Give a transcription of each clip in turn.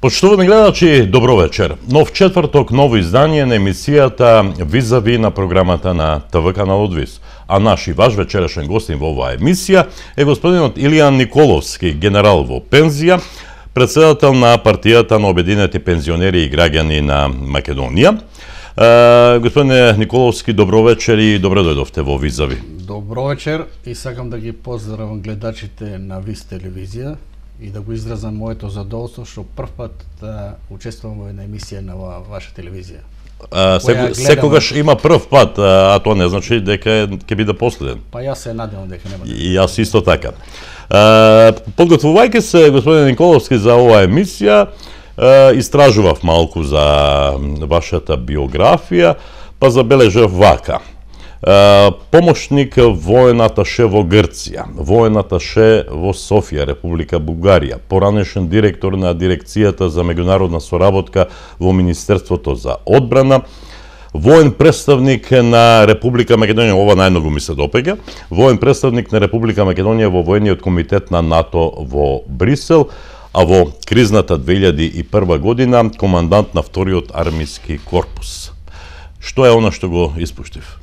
Почитувани гледачи, добро вечер. Нов четврток, ново издание на емисијата Визави на програмата на ТВ каналот ВИС. А наш и ваш вечерашен гостин во оваа емисија е господинот Илијан Николовски, генерал во пензија, председател на партијата на обединети пензионери и граѓани на Македонија. Господине Николовски, добро вечер и добро дојдовте во Визави. Добро вечер и сакам да ги поздравам гледачите на ВИС телевизија и да го изразам моето задоволство што прв пат учествувам во една емисија на ваша телевизија. Секогаш има прв пат, а тоа не значи дека ќе биде последен. Па јас се надевам дека нема. И јас исто така. Подготвувајќи се, господин Николовски, за оваа емисија, истражував малку за вашата биографија, па забележав вака. Помошник воен аташе во Грција, воен аташе во Софија, Република Бугарија, поранешен директор на дирекцијата за меѓународна соработка во Министерството за одбрана, воен представник на Република Македонија, ова најмногу ми се допаѓа, воен представник на Република Македонија во воениот комитет на НАТО во Брисел, а во кризната 2001 година командант на вториот армиски корпус. Што е она што го испуштив?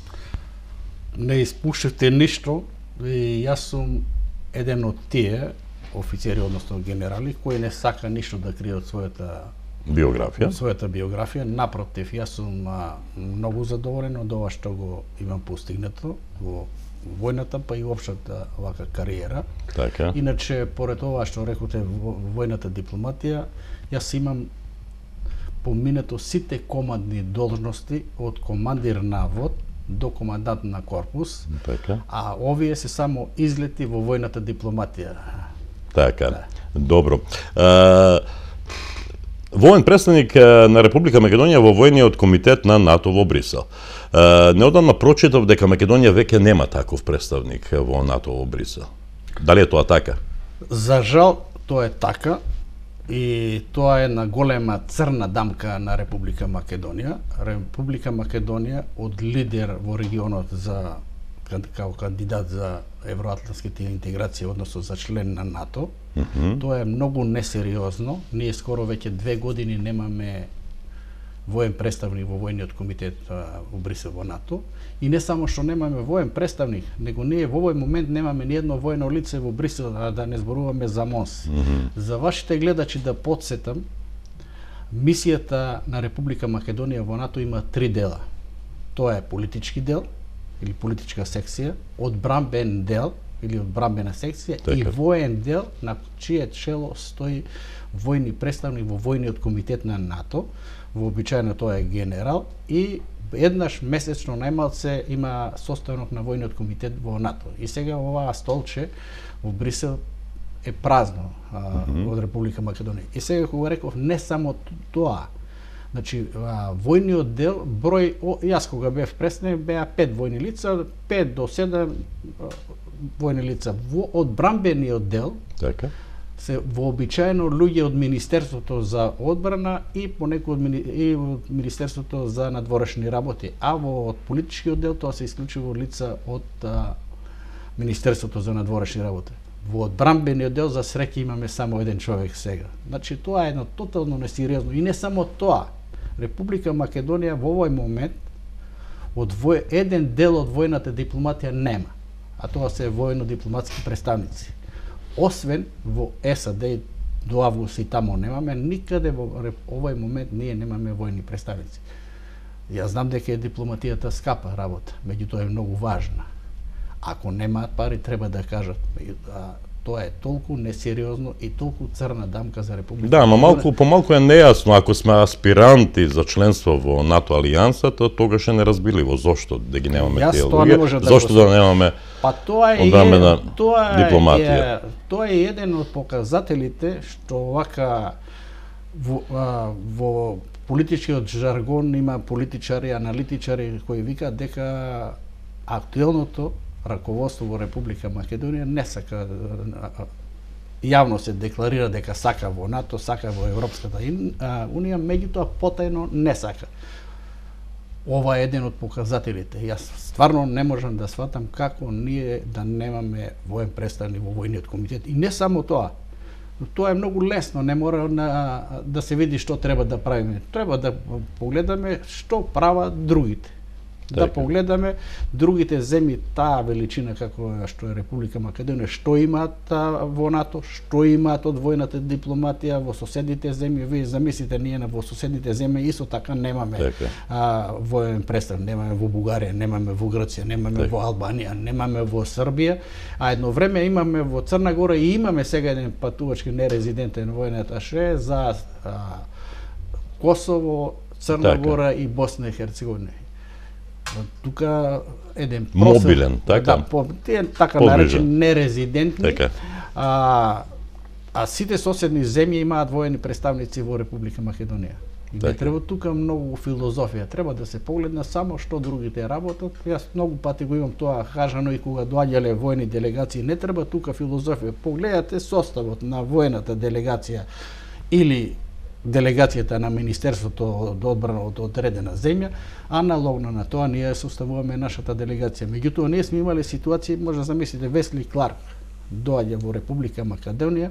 Не испуштивте ништо и јас сум еден од тие офицери, односно генерали, кои не сака ништо да крие од својата биографија. Напротив, јас сум многу задоволен од ова што го имам постигнато во војната, па и општата вака кариера. Така. Иначе, поред ова што рекоте војната дипломатија, јас имам поминато сите командни должности од командир на вод до командант на корпус, така. А овие се само излети во војната дипломатија. Така, да. Добро. Воен представник на Република Македонија во војниот комитет на НАТО во Брисел. Неодамна прочитав дека Македонија веќе нема таков представник во НАТО во Брисел. Дали е тоа така? За жал, тоа е така. И тоа е една голема црна дамка на Република Македонија. Република Македонија од лидер во регионот за како кандидат за евроатлантските интеграции, односно за член на НАТО. Тоа е многу несериозно. Ние скоро веќе 2 години немаме воен представник во војниот комитет во Брисел во НАТО. И не само што немаме воен представник, него ние во овој момент немаме ни едно воено лице во Брисел, а да не зборуваме за МОНС. За вашите гледачи да потсетам, мисијата на Република Македонија во НАТО има 3 дела. Тоа е политички дел или политичка секција, одбранбен дел или одбранбена секција и воен дел на чие чело стои војни представник во војниот комитет на НАТО. Вообичаено тоа е генерал и еднаш месечно најмалце има состанок на војниот комитет во НАТО. И сега оваа столче во Брисел е празно од Република Македонија. И сега кога реков не само тоа, значи војниот дел број, јас кога бев представник беа 5 војни лица, 5 до 7 војни лица. Во одбранбениот дел, така, се вообичаено луѓе од Министерството за одбрана и понекои од Министерството за надворешни работи, а во политичкиот дел тоа се исклучиво лица од Министерството за надворешни работи. Во одбранбениот дел за среќа имаме само еден човек сега. Значи тоа е едно тотално несериозно и не само тоа. Република Македонија во овој момент еден дел од војната дипломатија нема, а тоа се војно-дипломатски представници. Освен во САД до август и тамо немаме, никаде во овој момент ние немаме војни представници. Јас знам дека е дипломатијата скапа работа, меѓутоа е многу важна. Ако немаат пари, треба да кажат. Тоа е толку несериозно и толку црна дамка за Република. Да, но помалку е нејасно, ако сме аспиранти за членство во НАТО алијансата, тогаш е неразбирливо зошто да ги немаме тие луѓе, зошто да немаме одбранбена дипломатија. Тоа е еден од показателите што вака во политичкиот жаргон има политичари, аналитичари кои викаат дека актуелното раководство во Република Македонија не сака, јавно се декларира дека сака во НАТО, сака во Европската Унија, меѓутоа потајно не сака. Ова е еден од показателите. Јас стварно не можам да сватам како ние да немаме воен представник во војниот комитет. И не само тоа. Тоа е многу лесно, не мора да се види што треба да правиме. Треба да погледаме што прават другите. Да погледаме другите земји, таа величина како што е Република Македонија, што имаат во НАТО, што имаат од војната дипломатија во соседните земји. Вие замислите, ние во соседните земји исто така немаме воен представ, немаме во Бугарија, немаме во Грција, немаме во Албанија, немаме во Србија, а едно време имаме во Црна Гора и имаме сега еден патувачки нерезидентен воен аташе за Косово, Црна Гора и Босна и Херцеговина. Тука еден просек, мобилен, така? Да, така наречен нерезидентни, а сите соседни земји имаат воени представници во Република Македонија. И не треба тука многу филозофија, треба да се погледне само што другите работат. Јас многу пати го имам тоа кажано и кога доаѓале воени делегации, не треба тука филозофија. Погледате составот на воената делегација или делегацијата на Министерството од одбрана од одредена земја, аналогно на тоа ние составуваме нашата делегација. Меѓутоа ние сме имале ситуации, може да замислите, Весли Кларк доаѓа во Република Македонија,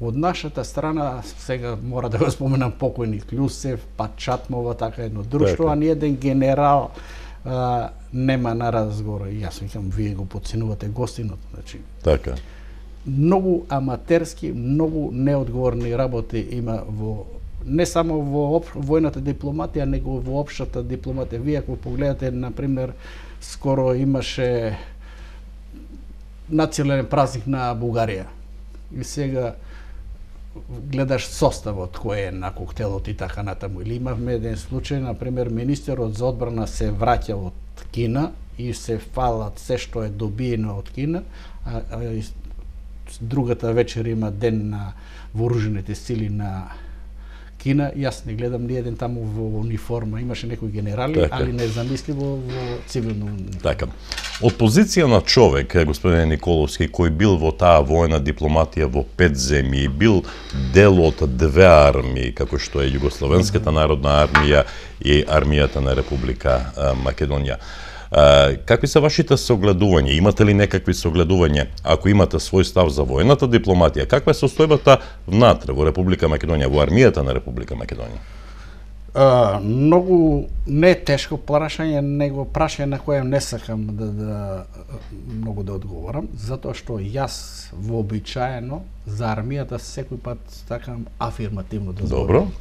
од нашата страна, сега мора да го споменам покојник Клюсев, Пачатмова, така едно друштво, а ни еден генерал нема на разговор. И јас викам, вие го подценувате гостинот, значи. Така. Многу аматерски, многу неодговорни работи има во не само во војната дипломатија, него во општата дипломатија. Вие ако погледате, на пример, скоро имаше национален празник на Бугарија. И сега гледаш составот кој е на коктелот и така натаму. Или имавме еден случај, на пример, министерот за одбрана се враќа од Кина и се фалат се што е добиено од Кина, другата вечер има ден на вооружените сили на Кина. Јас не гледам ни еден таму во униформа, имаше некои генерали, али незамисливо во цивилно. Така. Од позиција на човек, господин Николовски, кој бил во таа војна дипломатија во 5 земји, бил дел од 2 армии, како што е Југословенската народна армија и армијата на Република Македонија. Какви се вашите согледувања? Имате ли некакви согледувања? Ако имате свој став за војната дипломатија, каква е состојбата внатре во Република Македонија, во армијата на Република Македонија? Многу не тешко прашање, него прашање на кое не сакам многу да одговорам, затоа што јас вообичаено за армијата секој пат сакам афирмативно да зборувам. Добро.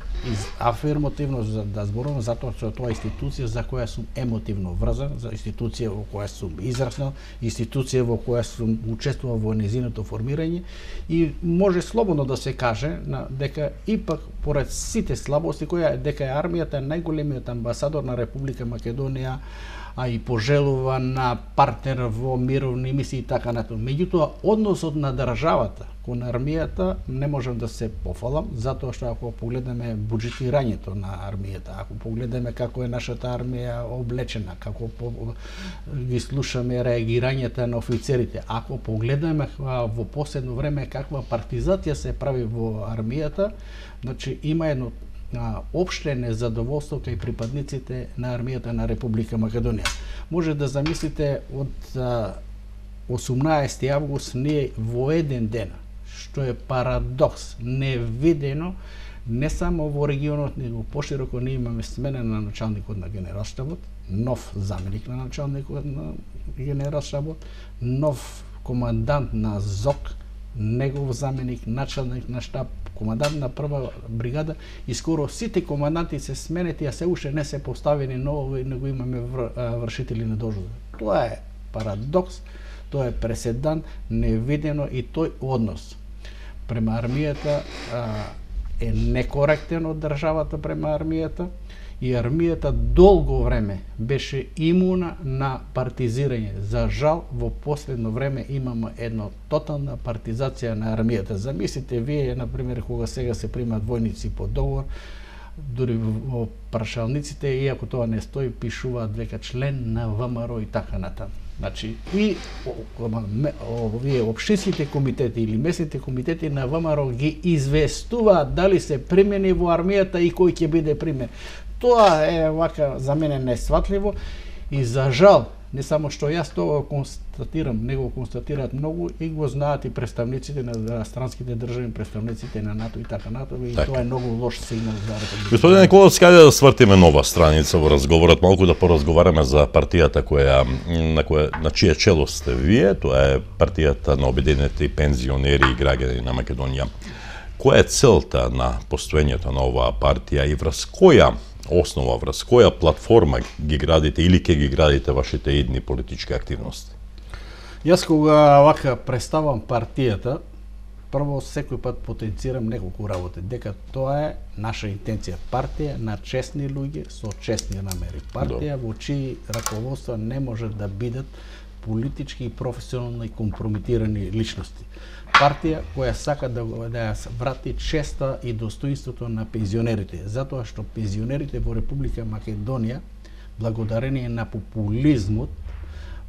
Афирмативно да зборувам затоа што тоа е институција за која сум емотивно врзан, за институција во која сум израснал, институција во која сум учествувал во нејзиното формирање и може слободно да се каже дека ипак поред сите слабости дека е армијата најголемиот амбасадор на Република Македонија, а и пожелуван партнер во мировни мисии и така натаму. Меѓутоа, односот на државата кон армијата не можам да се пофалам, затоа што ако погледнеме буџетирањето на армијата, ако погледнеме како е нашата армија облечена, како ги слушаме реагирањата на офицерите, ако погледнеме во последно време каква партизација се прави во армијата, значи има едно опште незадоволство кај припадниците на армијата на Република Македонија. Може да замислите од 18 август ние во еден ден, што е парадокс, невидено не само во регионот, него пошироко ние имаме смена на началникот на генералштабот, нов заменик на началникот на генералштабот, нов командант на ЗОК, негов заменик, началник на штаб, командант на прва бригада и скоро сите команданти се сменети, а се уште не се поставени нови, него имаме вршители на должност. Тоа е парадокс, тоа е преседан, невидено и тој однос према армијата е некоректен од државата према армијата и армијата долго време беше имуна на партизирање. За жал, во последно време имаме една тотална партизација на армијата. Замислите вие, например, кога сега се примат војници по договор, дури во прашалниците, иако тоа не стои, пишуваат дека член на ВМРО и така натаму. Значи, и овие општинските комитети или местните комитети на ВМРО ги известуваат дали се примени во армијата и кој ќе биде примен. Тоа е вака за мене несватливо и за жал Не само што јас тоа констатирам, него констатираат многу и го знаат и представниците на странските држави, представниците на НАТО и така натаму, и тоа е многу лош сигнал за Република. Господин Николовски, ајде да свртиме нова страница во разговорот, малку да поразговараме за партијата на чие чело сте вие, тоа е партијата на обединетите пензионери и граѓани на Македонија. Која е целта на постоењето на оваа партија и врз која основа, врз која платформа ги градите или ќе ги градите вашите идни политички активности? Јас кога вака представам партијата, прво секој пат потенцирам неколку работи, дека тоа е наша интенција. Партија на честни луѓе со честни намери. Партија во чии раководства не може да бидат политички и професионално и компрометирани личности. Партија која сака да ја врати честа и достоинството на пензионерите, затоа што пензионерите во Република Македонија, благодарение на популизмот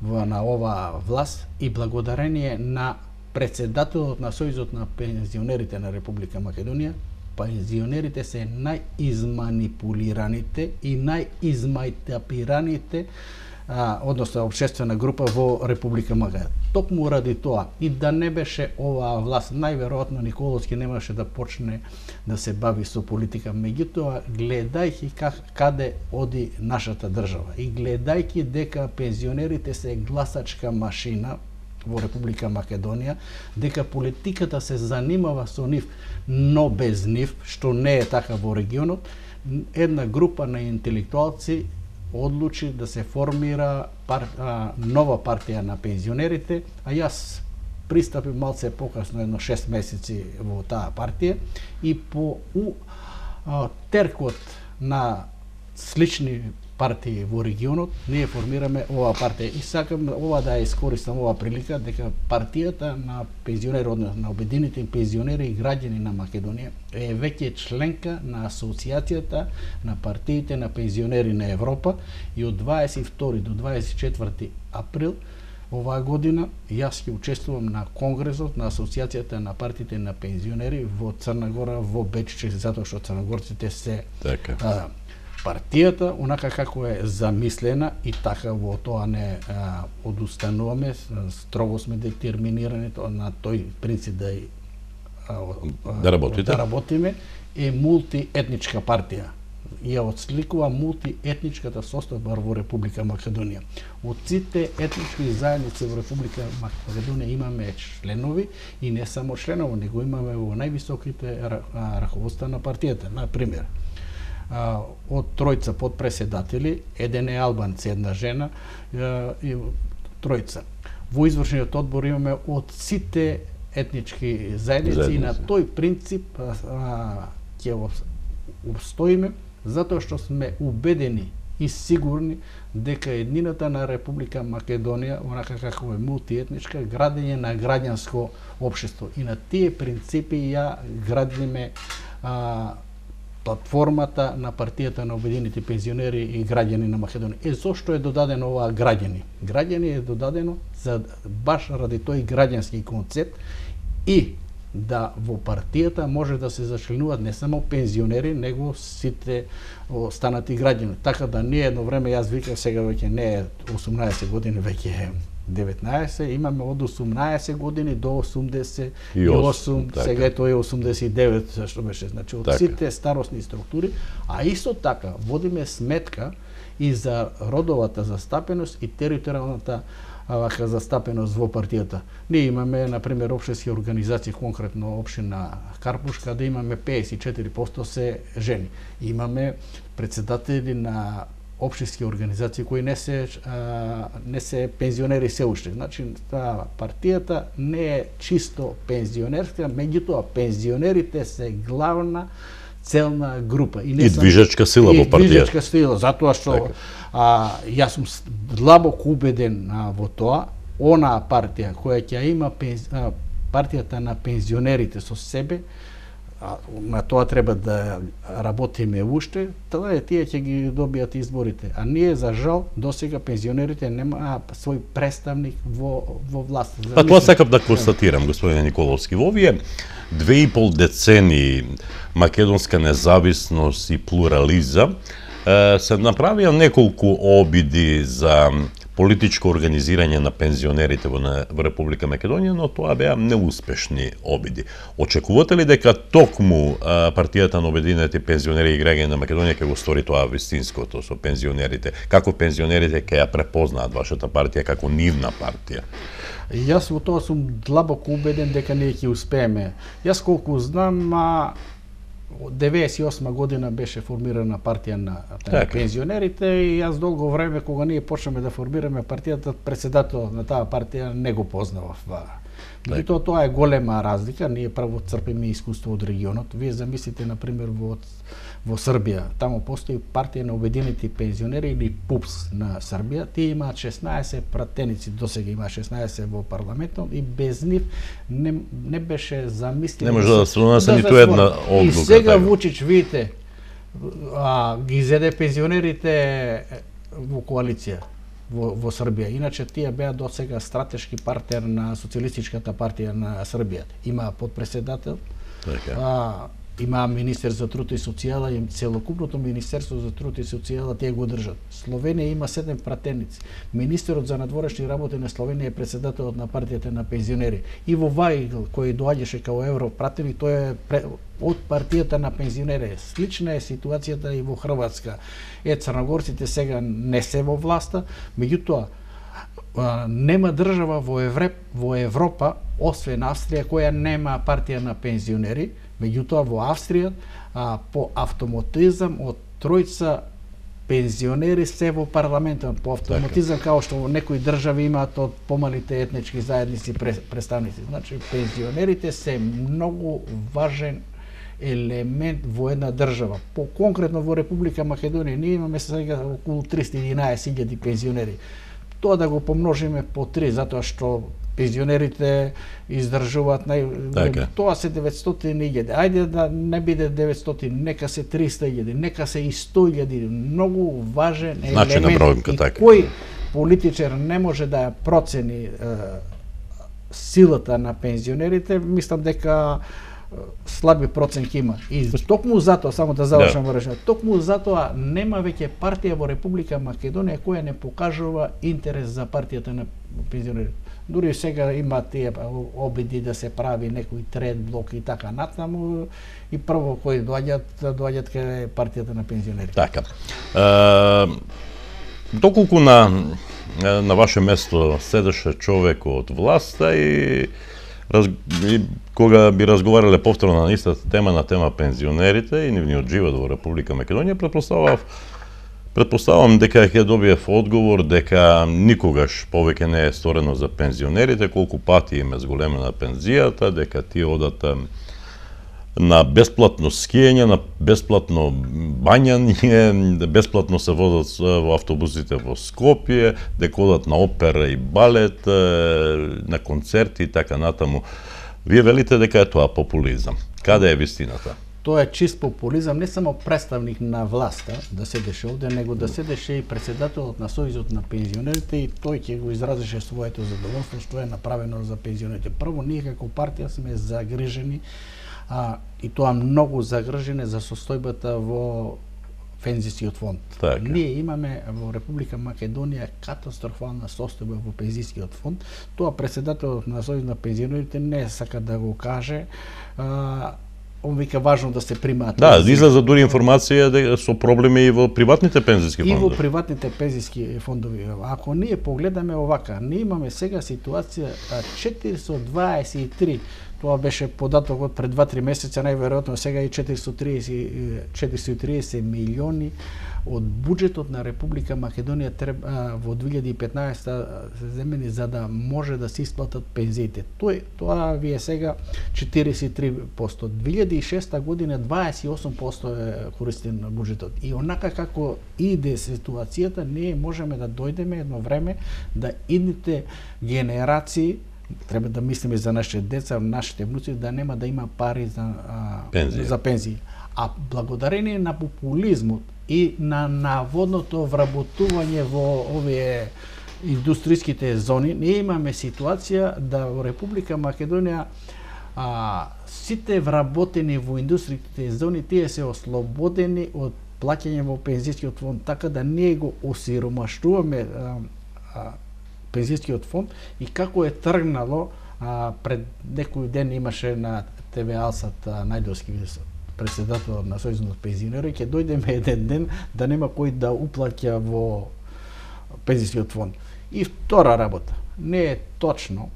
на оваа власт и благодарение на председателот на Сојузот на пензионерите на Република Македонија, пензионерите се најизманипулираните и најизмајтапираните односно општествена група во Република Македонија. Токму ради тоа, и да не беше оваа власт, најверојатно Николовски немаше да почне да се бави со политика. Меѓутоа, гледајќи каде оди нашата држава и гледајќи дека пензионерите се гласачка машина во Република Македонија, дека политиката се занимава со нив, но без нив, што не е така во регионот, една група на интелектуалци одлучи да се формира нова партија на пензионерите, а јас пристапив малце покасно, едно 6 месеци во таа партија, и по теркот на слични партии во регионот, ние формираме оваа партија. И сакам ова да ја искористам оваа прилика, дека партијата на пензионери, односно на обединетите пензионери и граѓани на Македонија, е веќе членка на Асоциацијата на партиите на пензионери на Европа, и од 22 до 24 април оваа година јас ќе учествувам на конгресот на Асоциацијата на партиите на пензионери во Црна Гора, во Беч, затоа што црногорците се партијата, онака како е замислена, и така во тоа не одустануваме, строго сме детерминирани на тој принцип да работиме, е мултиетничка партија. Ја отсликува мултиетничката состојба во Република Македонија. Од сите етнички заедници во Република Македонија имаме членови, и не само членови, него имаме во највисоките раководства на партијата. Например, од тројца подпредседатели, еден е албанец, една жена и тројца. Во извршниот одбор имаме од сите етнички заедници, и на тој принцип ќе обстоиме, затоа што сме убедени и сигурни дека еднината на Република Македонија, онака како е мултиетничка, градење на граѓанско општество. И на тие принципи ја градиме платформата на партијата на обединетите пензионери и граѓани на Македонија. Зошто е додадено оваа граѓани? Граѓани е додадено за баш ради тој граѓански концепт, и да во партијата може да се зачленуваат не само пензионери, него сите останати граѓани. Така да ние едно време, јас викав, сега веќе не е 18 години, веќе е 19, имаме од 18 години до 88, сега е тоа е 89, што беше, значи од сите старосни структури, а исто така водиме сметка и за родовата застапеност и територијалната застапеност во партијата. Ние имаме, например, општински организации, конкретно општина Карпушка, да имаме 54% се жени. Имаме председатели на општински организации кои не се пензионери се уште. Значи, партијата не е чисто пензионерска, меѓутоа пензионерите се главна целна група. И движечка сила во партијата. И движечка сила, затоа што јас сум длабоко убеден во тоа, онаа партија која ќе има партијата на пензионерите со себе, на тоа треба да работиме уште, тоа е тие ќе ги добијат изборите. А ние, за жал, досега пензионерите нема свој представник во власт. Па тоа сакам да констатирам, господине Николовски. Во овие 2,5 децении македонска независност и плурализам се направија неколку обиди за политичко организирање на пензионерите во Република Македонија, но тоа беа неуспешни обиди. Очекувате ли дека токму партијата на обединетите пензионери и граѓани на Македонија ќе го стори тоа вистинското со пензионерите? Како пензионерите ќе ја препознаат вашата партија како нивна партија? Јас во тоа сум длабоко убеден дека ние ќе успееме. Јас колку знам, 98 година беше формирана партија на пензионерите и јас долго време кога ние почнеме да формираме партијата, председател на таа партија не го познавав. Меѓутоа тоа е голема разлика, ние право црпиме искуство од регионот. Вие замислите на пример во Србија, таму постои партија на обединети пензионери или ПУПС на Србија, тие имаат 16 пратеници, досега има 16 во парламентот и без нив не беше замислено. Не може да се донесе ниту една одлука. И сега Вучич, видите, ги зеде пензионерите во коалиција во Србија. Иначе тие беа до сега стратешки партнер на Социјалистичката партија на Србија. Има подпредседател, има министер за труд и социјала и целокупното министерство за труд и социјала тие го држат. Словенија има 7 пратеници. Министерот за надворешни работи на Словенија е председателот на партијата на пензионери. Иво Вајгл, кој доаѓаше као европратеник, тој е од партијата на пензионери. Слична е ситуацијата и во Хрватска. Црногорците сега не се во власта, меѓутоа нема држава во Европа, освен Австрија, која нема партија на пензионери. Меѓутоа во Австрија по автоматизам од тројца пензионери се во парламентот, по автоматизам како што во некои држави имаат од помалите етнички заедници представници. Значи пензионерите се многу важен елемент во една држава. По конкретно во Република Македонија ние имаме сега околу 311.000 пензионери. Тоа да го помножиме по 3, затоа што пензионерите издржуваат тоа се 900.000. Ајде да не биде 900, нека се 300.000, нека се и 100.000. Многу важен елемент. И кој политичар не може да ја процени силата на пензионерите, мислам дека слаби проценки има. И токму затоа, само да завршам во решението, токму затоа нема веќе партија во Република Македонија која не покажува интерес за партијата на пензионерите. Дури сега има тие обиди да се прави некој трет блок и така натаму, и прво кои доаѓаат кај партијата на пензионерите. Така. Доколку на ваше место седеше човек од власта и кога би разговарале повторно на истата тема, на тема пензионерите и нивниот живот во Република Македонија, предпоставам дека ќе добиев одговор дека никогаш повеќе не е сторено за пензионерите, колку пати им е зголемена пензијата, дека тие одат на бесплатно скијање, на бесплатно бањање, бесплатно се возат во автобусите во Скопје, дека одат на опера и балет, на концерти и така натаму. Вие велите дека е тоа популизам. Каде е вистината? Тоа е чист популизам, не само представник на власта да седеше овде, него да седеше и председателот на Сојузот на пензионерите и тој ќе го изразише своето задоволство што е направено за пензионерите. Прво, ние како партија сме загрижени и тоа многу загрижени за состојбата во пензискиот фонд. Ние имаме во Република Македонија катастрофална состојба во пензискиот фонд. Тоа председателот на Сојуз на пензионерите не сака да го каже. Он вика важно да се примаат. Да, излеза дури информација со проблеми и во приватните пензиски фондови. И во приватните пензиски фондови. Ако ние погледаме овака, ние имаме сега ситуација 423. Тоа беше податокот пред 2-3 месеца, најверојатно сега и 430 милиони од буџетот на Република Македонија во 2015 се земени за да може да се исплатат пензиите. Тоа ви е сега 43%. 2006 година 28% е користен буџетот. И онака како иде ситуацијата, ние можеме да дојдеме едно време да идните генерации, треба да мислиме за нашите деца, нашите внуци, да нема да има пари за пензии. А благодарение на популизмот и на наводното вработување во овие индустријските зони, ние имаме ситуација да во Република Македонија сите вработени во индустријските зони, тие се ослободени од плаќање во пензискиот фонд, така да ние го осиромаштуваме пензискиот фонд и како е тргнало. Пред некој ден имаше на ТВ Алсат Најдовски председател на Сојузот пензионери, ќе дојдеме еден ден да нема кој да уплаќа во пензискиот фонд. И втора работа, не е точно.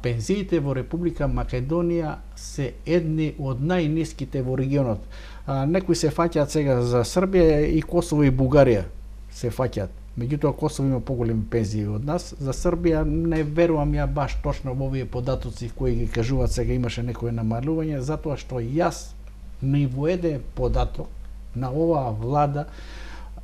Пензиите во Република Македонија се едни од најниските во регионот. Некои се фаќаат сега за Србија и Косово и Бугарија се фаќаат. Меѓутоа Косово има поголеми пензии од нас. За Србија не верувам ја баш точно во овие податоци кои ги кажуваат сега имаше некое намалување, затоа што јас ни во еден податок на оваа влада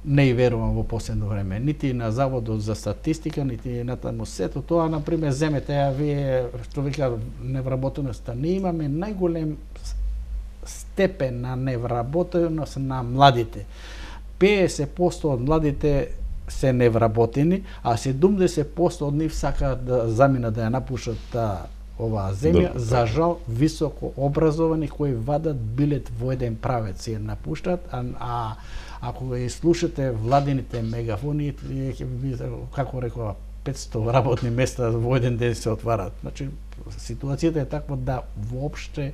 не верувам во последно време. Нити на Заводот за статистика, нити на таму сето тоа, например, земете ја вие, што вика невработеноста. Ние имаме најголем степен на невработеност на младите. 50% од младите се невработени, а 70% од нив сакаат да заминат да ја напушат оваа земја. За жал, високо образовани кои вадат билет во еден правец ја напуштат, а ако ги слушате владините мегафони, како рекова, 500 работни места во еден ден се отварат. Значи, ситуацијата е таква да воопште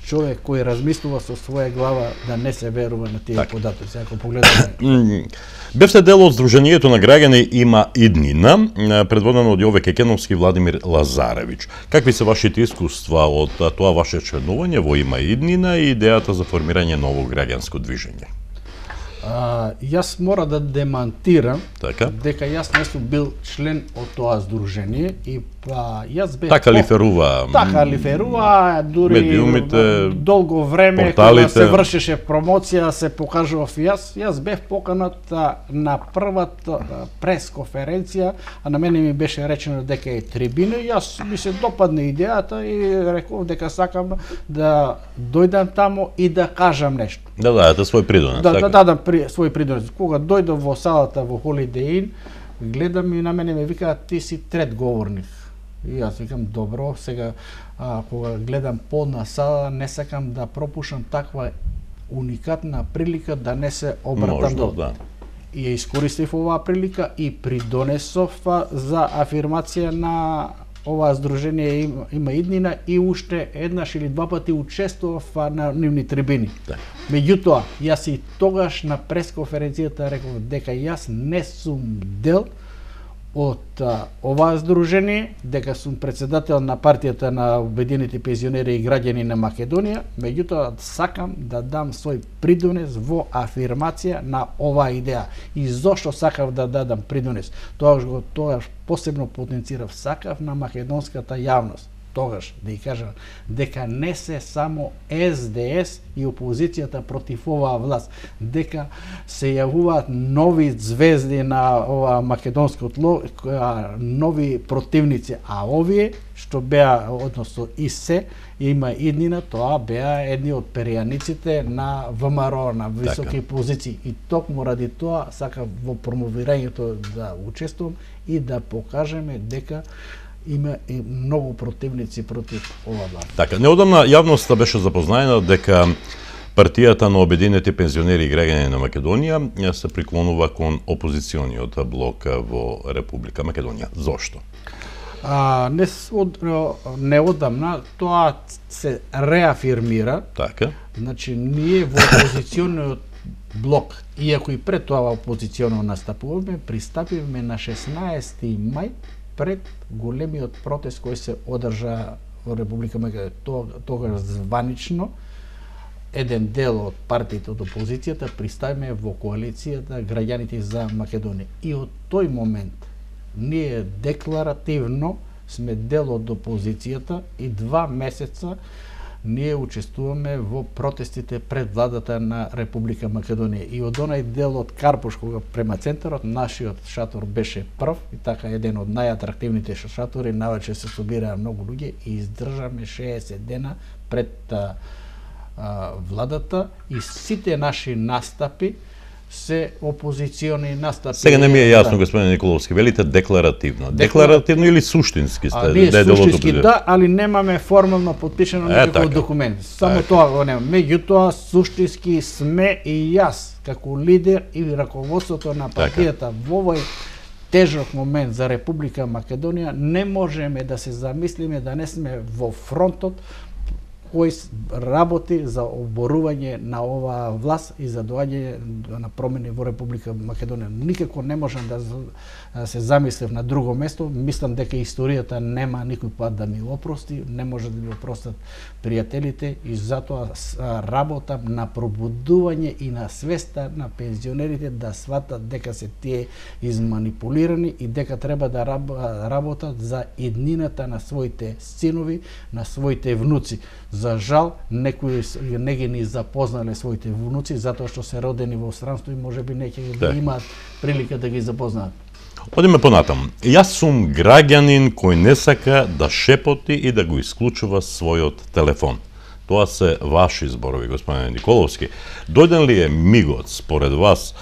човек кој размислува со своја глава да не се верува на тие податоци. Ако погледаме, бевте дел од Сдруженијето на граѓани Има иднина, предводено од Јове Кекеновски и Владимир Лазаревич. Какви се вашите искуства од тоа ваше членување во Има иднина и идејата за формирање ново граѓанско движење? Јас мора да демантирам дека јас не сум бил член од тоа здружение и јас бев така лиферува дури медиумите, долго време порталите. Кога се вршеше промоција се покажував јас бев поканат на првата пресконференција, а на мене ми беше речено дека е трибина и јас ми се допадна идејата и реков дека сакам да дојдам таму и да кажам нешто. Да дадете свој придонес. Да дадам свој придонес. Кога дојдов во салата во Holiday Inn, гледам и на мене ме викаат ти си трет говорник. И јас викам добро, сега кога гледам полна сала, не сакам да пропушам таква уникатна прилика да не се обратам до. Да. И ја искористив оваа прилика и придонесов за афирмација на оваа здружение Има иднина и уште еднаш или два пати учествував на нивни трибини. Да. Меѓутоа, јас и тогаш на пресконференцијата реков дека јас не сум дел од оваа здружение, дека сум председател на партијата на Обединети пензионери и граѓани на Македонија, меѓутоа сакам да дам свој придонес во афирмација на оваа идеја. И зошто сакав да дадам придонес? Тогаш посебно потенцирав, сакав на македонската јавност тогаш да ја кажам дека не се само СДС и опозицијата против оваа власт, дека се јавуваат нови звезди на оваа македонско тло, нови противници, а овие што беа, односно и се Има иднина, тоа беа едни од перијаниците на ВМРО, на високи позиции. И токму ради тоа сакам во промовирањето да учествувам и да покажеме дека има и многу противници против ова власт. Така, неодамна јавноста беше запознаена дека партијата на Обединети пензионери и граѓани на Македонија се приклонува кон опозициониот блок во Република Македонија. Зошто? Неодамна тоа се реафирмира. Така. Значи, ние во опозициониот блок, иако и пред тоа опозиционно настапуваме, пристапивме на 16 мај пред големиот протест кој се одржа во Република Македонија. Тогаш званично еден дел од партиите од опозицијата пристапиме во коалицијата Граѓаните за Македонија. И од тој момент ние декларативно сме дел од опозицијата и 2 месеца ние учествуваме во протестите пред владата на Република Македонија. И од онај дел од Карпуш, кога према центарот, нашиот шатор беше прв и така еден од најатрактивните шатори, навечер се собираа многу луѓе и издржаме 60 дена пред владата и сите наши настапи се опозициони настапи. Сега не ми е јасно, господин Николовски, велите декларативно. Декларативно или суштински сте? Ние суштински да, али немаме формално подпишано никаков документ. Само тоа го немаме. Меѓутоа, суштински сме и јас, како лидер и раководството на партијата во овој тежок момент за Република Македонија, не можеме да се замислиме да не сме во фронтот кој работи за оборување на оваа власт и за доаѓање на промени во Република Македонија. Никако не можам да се замислев на друго место. Мислам дека историјата нема никој пат да ми опрости, не може да ми опростат пријателите и затоа работам на пробудување и на свеста на пензионерите да сватат дека се тие изманипулирани и дека треба да работат за иднината на своите синови, на своите внуци. За жал, некои не ги ни запознале своите внуци, затоа што се родени во странство и можеби неќе да имаат прилика да ги запознаат. Одиме понатаму. Јас сум граѓанин кој не сака да шепоти и да го исклучува својот телефон. Тоа се ваши зборови, господине Николовски. Дојден ли е мигот, според вас,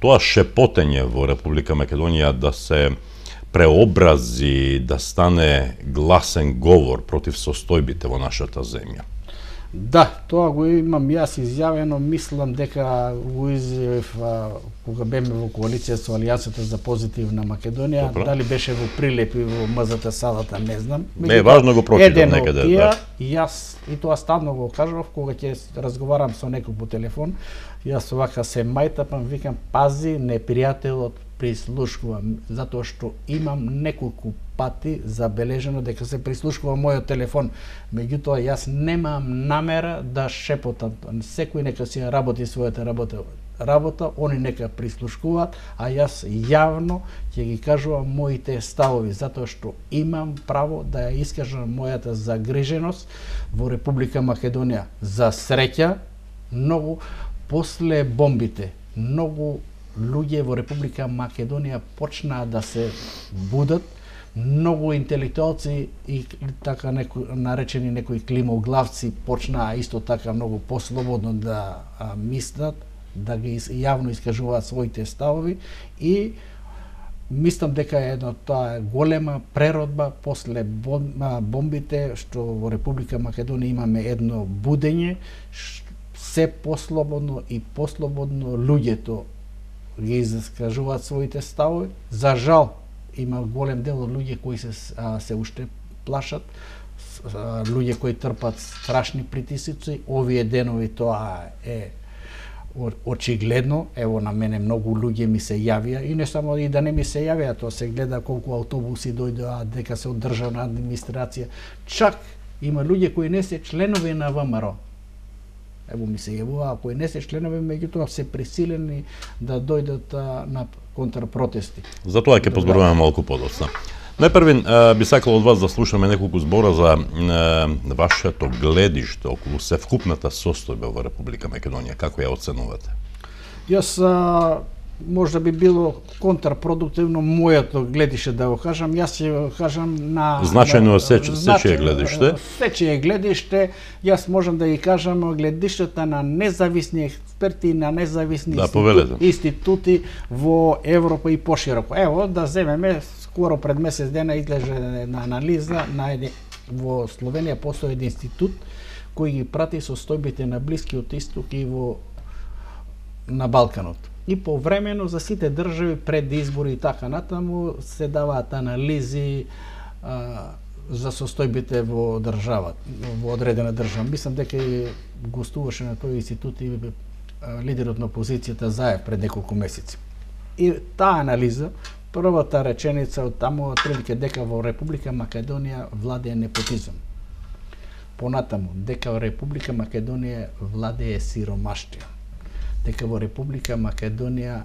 тоа шепотење во Република Македонија да се преобрази, да стане гласен говор против состојбите во нашата земја? Да, тоа го имам јас изјавено, мислам дека го изјавив кога беме во коалиција со Алијансата за позитивна Македонија. Добро. Дали беше во Прилепи во МЗТ салата, не знам. Не е важно, го прочитам некаде. Да. Јас и тоа стално го кажав кога ќе разговарам со некој по телефон. Јас вака се мајтапам, викам пази, непријателот прислушкува, затоа што имам неколку пати забележено дека се прислушкува мојот телефон. Меѓутоа јас немам намера да шепотам. Секој нека си работи својата работа, они нека прислушкуваат, а јас јавно ќе ги кажувам моите ставови, затоа што имам право да ја искажам мојата загриженост во Република Македонија. За среќа, многу после бомбите, многу луѓе во Република Македонија почнаа да се будат, многу интелектуалци и така наречени некои климоглавци почнаа исто така многу послободно да мислат, да ги јавно искажуваат своите ставови и мислам дека тоа е голема преродба после бомбите што во Република Македонија имаме едно будење, се послободно и послободно луѓето ги искажуваат своите ставови. За жал, има голем дел од луѓе кои се уште плашат, луѓе кои трпат страшни притисоци. Овие денови тоа е очигледно. Ево на мене многу луѓе ми се јавија и не само и да не ми се јавија, тоа се гледа колку автобуси дојдоа, дека се од државна администрација. Чак има луѓе кои не се членови на ВМРО. Ево ми се јавува, кои не се членови, меѓутоа се присилени да дојдат на контрпротести. Затоа ќе позборуваме малку подоцна. Најпрвин би сакал од вас да слушаме неколку збора за вашето гледиште околу севкупната состојба во Република Македонија. Како ја оценувате? Јас можда би било контрпродуктивно моето гледиште да го кажам. Јас ќе кажам на значајно сечие гледиште. Сечие гледиште, јас можам да ги кажам гледиштата на независни експерти, на независни институти во Европа и пошироко. Ево да земеме скоро пред месец дена излезе на анализа во Словенија постои еден институт кој ги прати состојбите на Блискиот Исток и на Балканот. И повремено за сите држави пред избори и така натаму се даваат анализи за состојбите во државата, во одредена држава. Мислам дека и гостуваше на тој институт и лидерот на опозицијата Заев пред неколку месеци. И таа анализа, првата реченица од таму отприлика дека во Република Македонија владее непотизам. Понатаму дека во Република Македонија владее сиромаштија. Дека во Република Македонија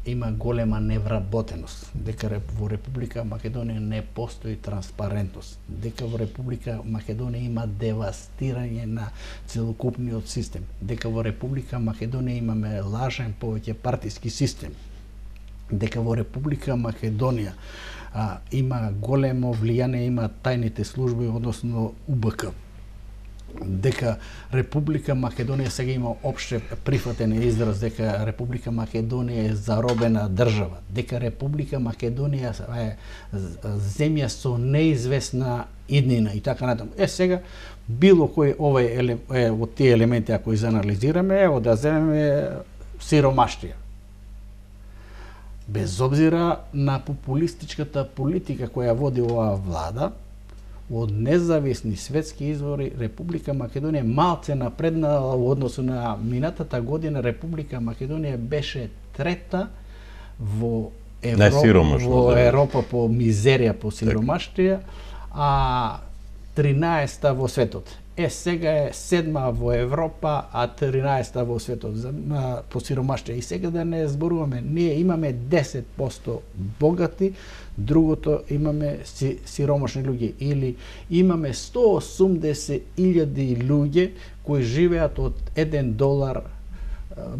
има голема невработеност, дека во Република Македонија не постои транспарентност, дека во Република Македонија има девастирање на целокупниот систем, дека во Република Македонија имаме лажен повеќе партиски систем, дека во Република Македонија има големо влијание, има тајните служби, односно УБК, дека Република Македонија сега има опште прифатен израз дека Република Македонија е заробена држава, дека Република Македонија е земја со неизвестна иднина и така натаму. Сега било кој од тие елементи ако изанализираме, ево да земеме сиромаштија. без обзира на популистичката политика која води оваа влада, од независни светски извори Република Македонија малце напреднала во односу на минатата година. Република Македонија беше трета во Европа по мизерија, по сиромаштија, а 13-та во светот. Сега е 7-ма во Европа, а 13-та во светот по сиромаштија. И сега да не зборуваме, ние имаме 10% богати, другото имаме сиромашни луѓе, или имаме 180.000 луѓе кои живеат од $1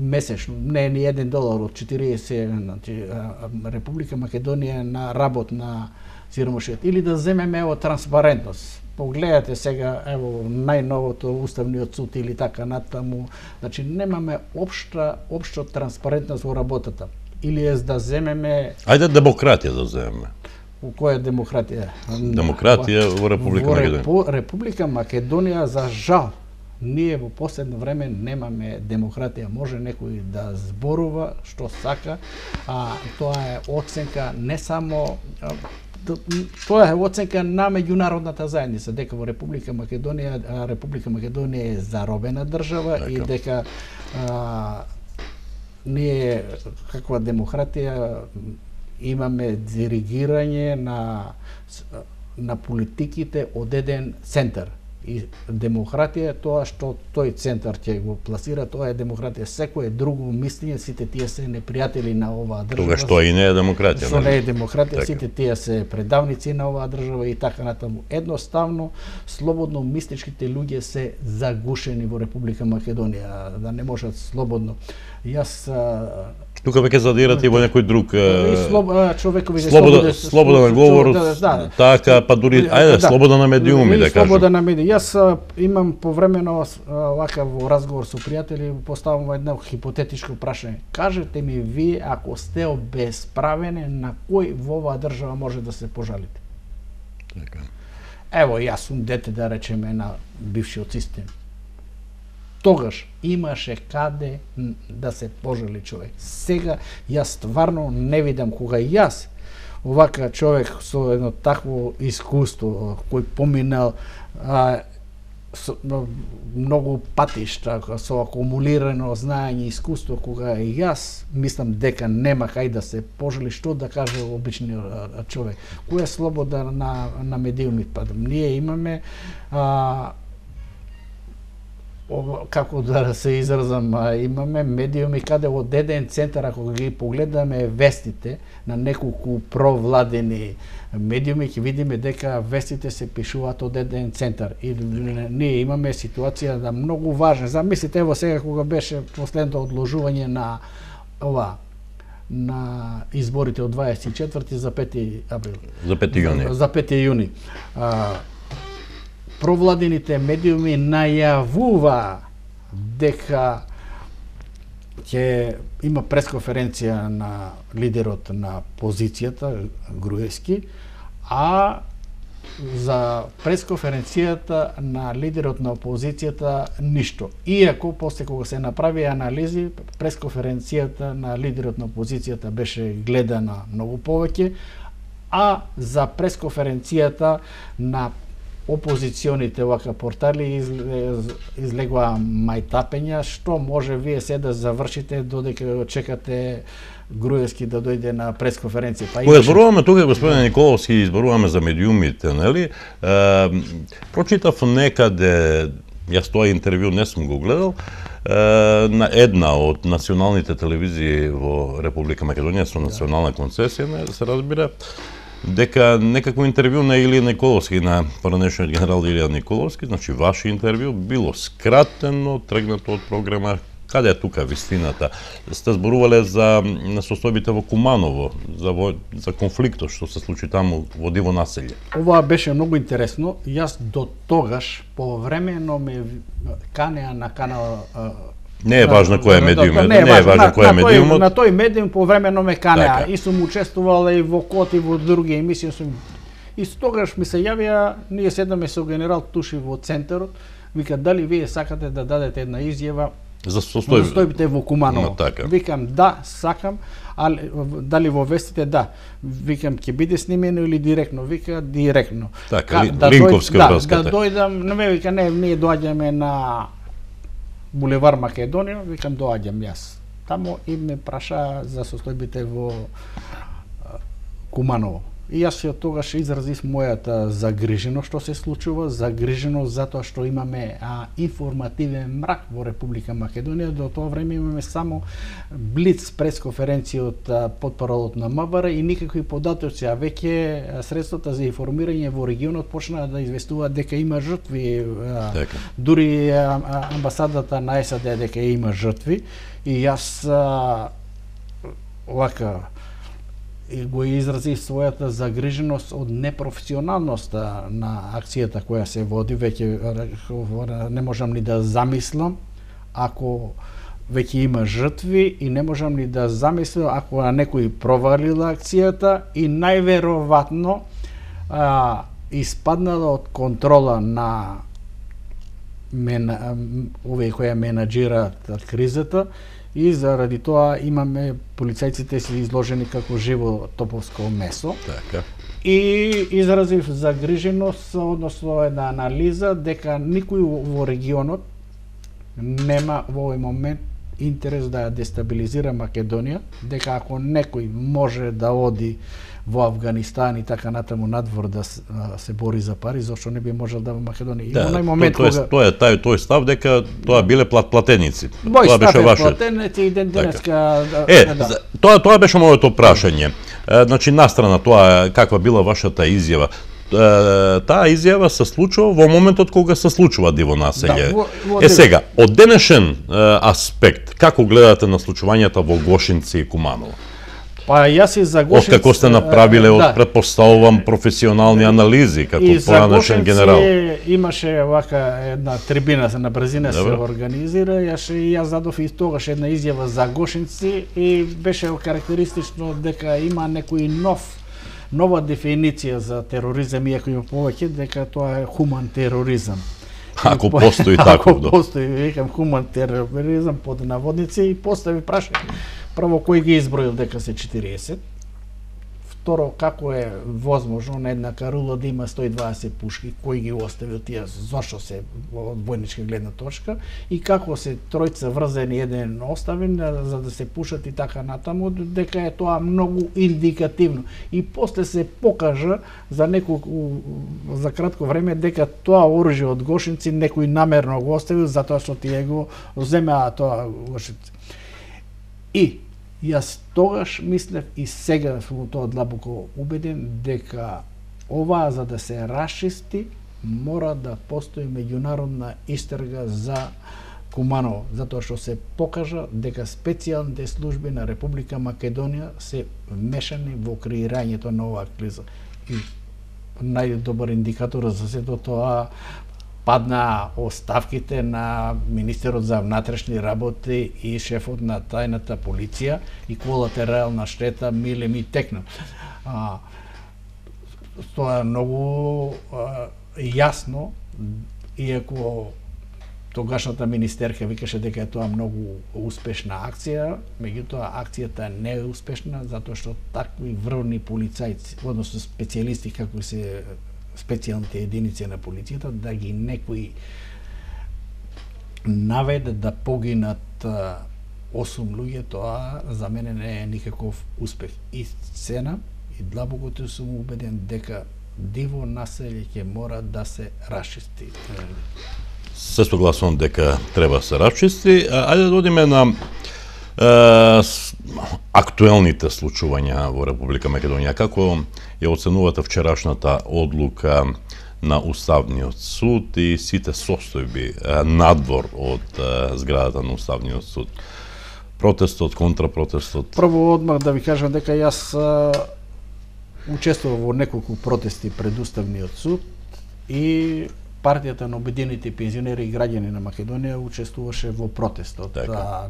месечно, не ни $1 од 40, значи Република Македонија на работ на сиромашиот. Или да земеме ево транспарентност. Погледате сега ево најновото уставниот суд или така натаму, значи немаме општа транспарентност во работата. Или е да земеме... Ајде демократија да земеме. Која е демократија? Демократија во Република Македонија. Во Република Македонија, за жал, ние во последно време немаме демократија. Може некој да зборува што сака, а тоа е оценка не само... Тоа е оценка на меѓународната заедница, дека во Република Македонија е заробена држава и дека ние каква демократија имаме диригирање на политиките од еден центар. И демократија е тоа што тој центар ќе го пласира, тоа е демократија. Секое друго мислење, сите тие се непријатели на оваа држава. Тога што и не е демократија. Што не е демократија, сите тие се предавници на оваа држава и така натаму. Едноставно, слободно мисличките луѓе се загушени во Република Македонија, да не можат слободно. Јас тука веќе задирате и во некој друг човекови слободен говор, така, па дури слобода на медиуми, да кажем. Слобода на медиуми. Јас имам повремено вака во разговор со пријатели, поставам едно хипотетичко прашање. Кажете ми вие, ако сте обесправени, на кој во оваа држава може да се пожалите? Така. Ево, јас сум дете, да речеме, на бившиот систем. Тогаш имаше каде да се пожали човек. Сега јас стварно не видам кога јас, овака човек со едно такво искуство, кој поминал многу патишта, со акумулирано знаење и искуство, кога јас мислам дека нема кај да се пожали, што да каже обичниот човек. Која е слобода на медиуми? Па ние имаме како да се изразам, имаме медиуми каде од еден центар, ако ги погледаме вестите на неколку провладени медиуми, ќе видиме дека вестите се пишуваат од еден центар. И ние имаме ситуација да многу важна. Замислите, ево сега кога беше последното одложување на на изборите од 24 за 5 април. За 5 јуни. За 5 јуни. Провладените медиуми најавува дека ќе има пресконференција на лидерот на позицијата Груевски, а за пресконференцијата на лидерот на опозицијата ништо. Иако после кога се направи анализи, пресконференцијата на лидерот на опозицијата беше гледана многу повеќе, а за пресконференцијата на опозиционите вака портали излегува мајтапења, што може вие се да завршите додека чекате Груевски да дојде на пресконференција. Кога зборуваме тука, господин Николовски, зборуваме за медиумите, нели? Прочитав некаде, јас тоа интервју не сум го гледал, на една од националните телевизии во Република Македонија со национална концесија, не се разбира, дека некакво интервју на Илија Николовски, на поранешниот генерал Илија Николовски, значи ваше интервју било скратено, тргнато од програма. Каде е тука вистината? Сте зборувале за состојбите во Куманово, за конфликтот што се случи таму во диво населје. Ова беше многу интересно. Јас до тогаш повремено ме канеа на канал. Не е важно кој е медиумот, не е важно кој е медиумот. На тој медиум повремено ме канеа и сум учествувал и во КОТ и во други емисии. И тогаш ми се јавија, ние седаме со генерал Туши во центарот, вика дали вие сакате да дадете една изјава За состојбите во Куманово. Така. Викам да, сакам, али дали во вестите да. Викам ќе биде снимено или директно. Вика директно. Така, линковска врска. Да дојдам, не ме вика не, ние доаѓаме на булевар Македонија, викам доаѓам јас. Тамо и ме праша за состојбите во Куманово. И јас ја тогаш изразив мојата загриженост што се случува, загриженост затоа што имаме информативен мрак во Република Македонија. До тоа време имаме само блиц пресконференција од потпоралот на МВР и никакви податоци, а веќе средствата за информирање во регионот почнаа да известуваат дека има жртви. Дури амбасадата на САД дека има жртви и јас овака и го изразив својата загриженост од непрофесионалноста на акцијата која се води. Веќе не можам ни да замислам ако веќе има жртви и не можам ни да замислам ако некој провалила акцијата и најверојатно испаднала од контрола на овие кои менаџираат кризата. И заради тоа имаме полицајците се изложени како живо топовско месо. Така. И изразив загриженост, односно една анализа дека никој во регионот нема во овој момент интерес да ја дестабилизира Македонија, дека ако некој може да оди во Авганистан и така натаму надвор да се бори за пари, зашто не би можел да во Македонија. И да, онај момент тој став дека тоа биле платеници. Тоа беше ваше. Платеници и денеска. Тоа беше моето прашање. Значи настрана тоа каква била вашата изјава. Таа изјава се случува во моментот кога се случува диво населје. Сега, од денешен аспект, како гледате на случувањата во Гошинци и Куманово? Па јас и за Гошинци... Откако сте направиле, предпоставувам, професионални анализи, како поранешен генерал. И за Гошинци имаше овака една трибина на брзина се организира, јас задов и тогаш една изјава за Гошинци и беше карактеристично дека има некој нова дефиниција за тероризам, иако има повеќе, дека тоа е хуман тероризам. Ако постои таков, ако постои, викам, хуман тероризам под наводници и постави прашање. Прво, кој ги изброил дека се 40? Второ, како е возможно на една карула да има 120 пушки, кој ги оставил тие, зашто се од војничка гледна точка, и како се тројца врзени еден оставен за да се пушат и така натаму, дека е тоа многу индикативно. И после се покажа за за кратко време дека тоа оружје од Гошинци некој намерно го оставил затоа што тие го земеа тоа Гошинци. И јас тогаш мислев и сега сум тоа длабоко убеден дека ова за да се расчисти мора да постои меѓународна истрага за Куманово, затоа што се покажа дека специјалните служби на Република Македонија се вмешани во креирањето на оваа криза. И најдобар индикатор за сето тоа падна оставките на министерот за внатрешни работи и шефот на тајната полиција и колатерална штета милеми текна. Тоа е многу јасно, иако тогашната министерка викаше дека е тоа многу успешна акција, меѓутоа акцијата не е успешна затоа што такви врвни полицајци, односно специјалисти како се специјалните единици на полицијата, да ги некои наведе да погинат 8 луѓе, тоа за мене не е никаков успех. И цена, и длабокото сум убеден дека диво населје ќе мора да се расчисти. Се согласувам дека треба да се расчисти. Ајде да одиме на актуелните случувања во Република Македонија. Како ја оценувате вчерашната одлука на Уставниот суд и сите состојби надвор од зградата на Уставниот суд? Протестот, контрапротестот? Прво одмах да ви кажам дека јас учествував во неколку протести пред Уставниот суд и партијата на обединените пензионери и граѓани на Македонија учествуваше во протестот.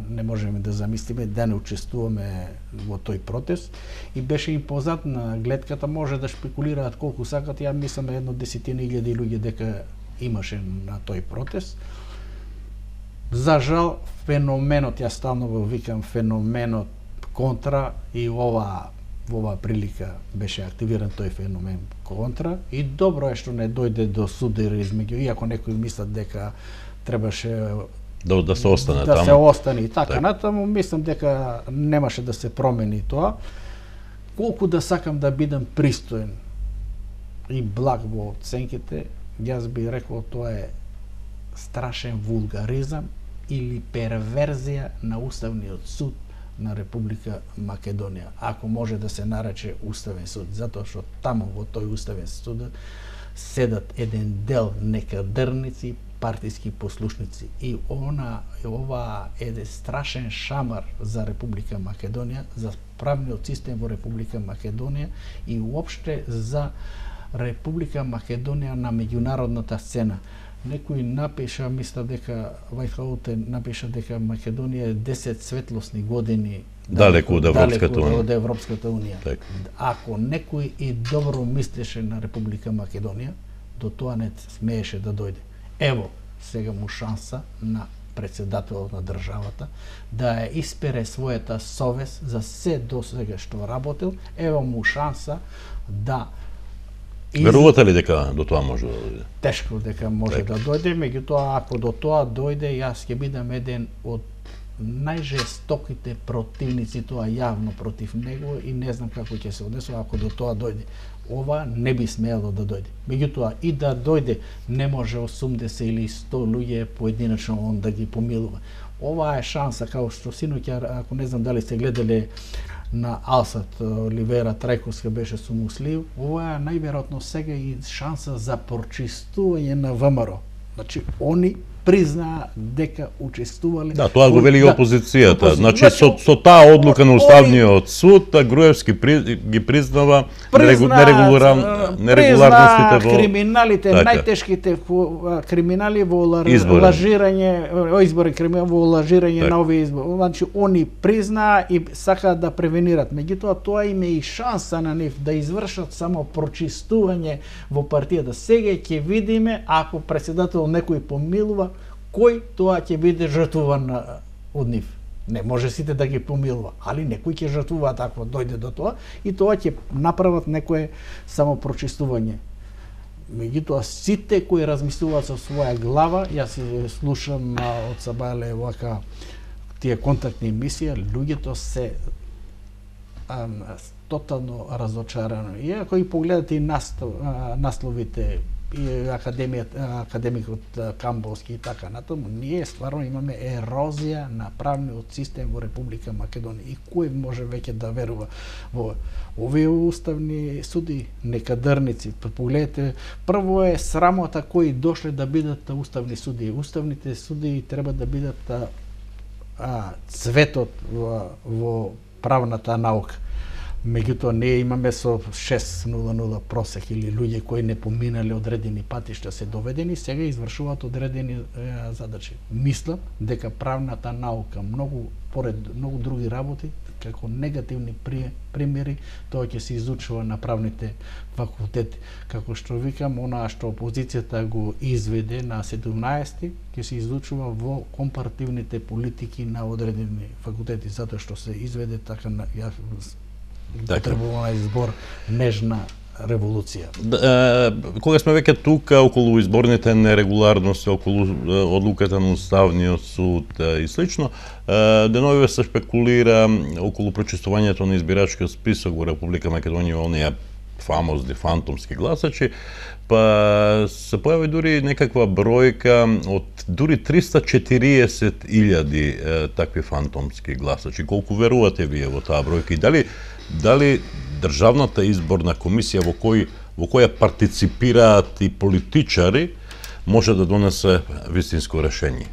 Не можеме да замислиме да не учествуваме во тој протест и беше импозантна гледката, може да шпекулираат колку сакат, ја мислам 1 десетина илјади луѓе дека имаше на тој протест. За жал, феноменот, јас стално го викам феноменот контра, и во ова прилика беше активиран тој феномен контра, и добро е што не дојде до судир измеѓу, иако некои мислат дека требаше да се остане да таму. се остане и така натаму, мислам дека немаше да се промени тоа. Колку да сакам да бидам пристоен и благ во оценките, јас би рекол тоа е страшен вулгаризам или перверзија на Уставниот суд на Република Македонија, ако може да се нарече Уставен суд, затоа што таму во тој Уставен суд седат еден дел некадърници, партиски послушници, и ова е страшен шамар за Република Македонија, за правниот систем во Република Македонија и уопште за Република Македонија на меѓународната сцена. Некој напиша, мисля дека Вајхаутен напиша дека Македонија е 10 светлосни години далеку од Европската унија. Так. Ако некој и добро мислеше на Република Македонија, до тоа не смееше да дојде. Ево, сега му шанса на председателот на државата да ја испере својата совест за се до сега што работил. Ево му шанса да Верувате ли дека до тоа може да дојде? Тешко дека може да дојде, меѓутоа ако до тоа дојде, јас ќе бидам еден од најжестоките противници, тоа јавно против него, и не знам како ќе се однесува ако до тоа дојде. Ова не би смело да дојде. Меѓутоа и да дојде, не може 80 или 100 луѓе поединечно он да ги помилува. Ова е шанса, као што синоќа, ако не знам дали сте гледале на Алсат, Оливера Трајковска беше со Муслиев, ова е најверојатно сега и шанса за прочистување на ВМРО. Значи, они признаа дека учествувале. Да, тоа го вели и опозицијата. Значи, со таа одлука на Уставниот суд, Груевски ги признава нерегуларностите во криминалите, најтешките криминали во лажирање, во лажирање на овие избори. Значи, они признаа и сакаат да превенират. Меѓутоа, тоа им е и шанса на нив да извршат само прочистување во партијата. Сега ќе видиме, ако председател некој помилува, кој тоа ќе биде жртвуван од нив. Не може сите да ги помилува, али некој ќе жртвува такво дојде до тоа, и тоа ќе направат некое само прочистување. Меѓутоа, сите кои размислуваат со своја глава, јас слушам од Сабајле вака тие контактни емисија, луѓето се тотално разочарани. И ако и погледате и насловите, и академикот Камболски и така натаму, ние стварно имаме ерозија на правниот систем во Република Македонија. И кој може веќе да верува во овие уставни суди, некадърници? Погледате, прво е срамота кои дошле да бидат уставни суди. Уставните суди треба да бидат цветот во правната наука. Меѓутоа, ние имаме со 6.00 просек или луѓе кои не поминале одредени патишта се доведени, сега извршуваат одредени задачи. Мислам дека правната наука, поред многу други работи, како негативни примери, тоа ќе се изучува на правните факултети. Како што викам, она што опозицијата го изведе на 17-ти, ќе се изучува во компаративните политики на одредени факултети, затоа што се изведе така на потребувана избор нежна револуција. Кога сме веќе тука околу изборните нерегуларности, околу одлуката на Уставниот суд и слично, деновиве се спекулира околу прочистувањето на избирачкиот список во Република Македонија, оние фамозни фантомски гласачи, па се појави дури некаква бројка од дури 340.000 такви фантомски гласачи. Колку верувате вие во таа бројка и дали Државната изборна комисија во која партиципираат и политичари може да донесе вистинско решение?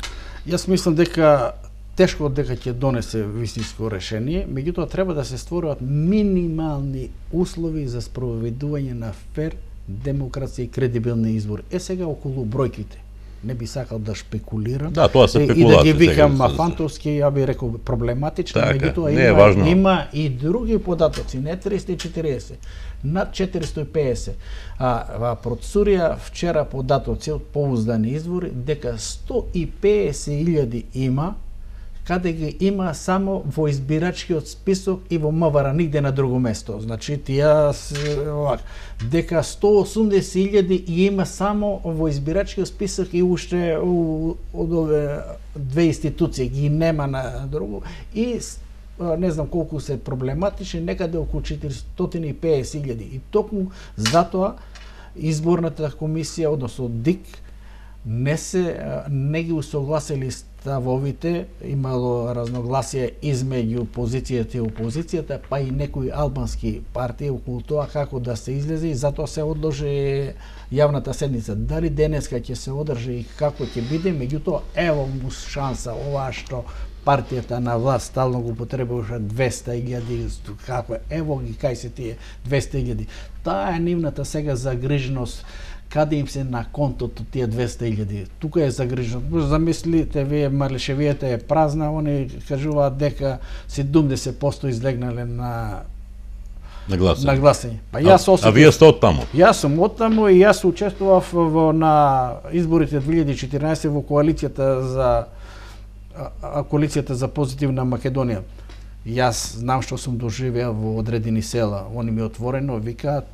Јас мислам дека тешко дека ќе донесе вистинско решение, меѓутоа треба да се створуваат минимални услови за спроведување на фер, демократски и кредибилни избори. Сега околу бројките. не би сакал да шпекулирам. Да, тоа се и да спекулации. ги викам фантовски, ја би рекол проблематично, меѓутоа има и други податоци, не 340, над 450. Процурија вчера податоци од поуздани извори дека 150.000 има, каде ги има само во избирачкиот список и во МВР, нигде на друго место. Значи, тие дека 180.000 има само во избирачкиот список и уште од ове две институции ги нема на друго и не знам колку се проблематични, некаде околу 450.000. И токму затоа изборната комисија, односно ДИК, не ги усогласили ставовите, имало разногласие измеѓу позицијата и опозицијата, па и некои албански партии околу тоа како да се излезе и затоа се одложи јавната седница. Дали денеска ќе се одржи и како ќе биде, меѓутоа ево му шанса ова што партијата на власт стално го потребуваше 200.000, како ево ги кај се тие 200.000. Таа е нивната сега загриженост каде им се на контото тие 200.000. Тука е загрижено. Замислите, вие Малишевијата е празна, они кажуваат дека 70% излегнале на гласање. Па а вие сте од таму? Јас сум од таму и јас учествував на изборите 2014 во коалицијата за позитивна Македонија. Јас знам што сум доживеал во одредени села. Они ми отворено викаат